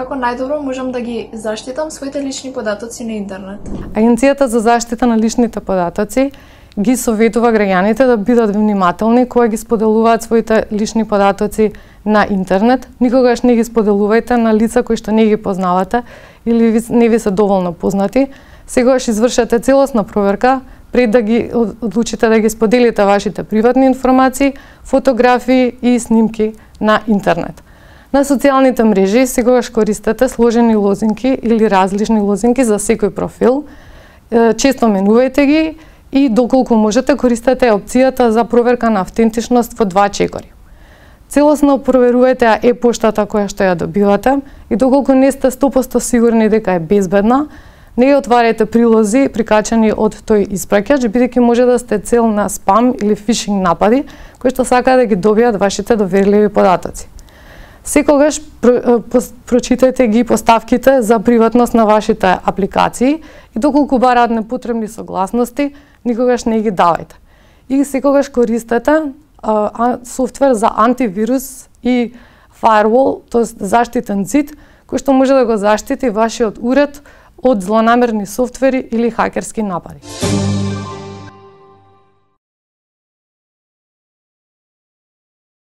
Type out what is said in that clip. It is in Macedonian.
како најдобро можам да ги заштитам своите лични податоци на интернет? Агенцијата за заштита на личните податоци ги советува граѓаните да бидат внимателни кога ги споделуваат своите лични податоци на интернет. Никогаш не ги споделувајте на лица кои што не ги познавате или не ви се доволно познати. Секогаш извршете целосна проверка пред да ги одлучите да ги споделите вашите приватни информации, фотографии и снимки на интернет. На социјалните мрежи секогаш користете сложени лозинки или различни лозинки за секој профил. Често менувајте ги и доколку можете користете опцијата за проверка на автентичност во 2 чекори. Целосно проверувајте e-поштата која што ја добивате и доколку не сте 100% сигурни дека е безбедна, не ја отварајте прилози прикачани од тој испраќач, бидејќи може да сте цел на спам или фишинг напади кои што сакаат да ги добијат вашите доверливи податоци. Секогаш прочитајте ги поставките за приватност на вашите апликации и доколку бараат непотребни согласности, никогаш не ги давајте. И секогаш користете софтвер за антивирус и firewall, тоест заштитен зид, кој што може да го заштити вашиот уред од злонамерни софтвери или хакерски напади.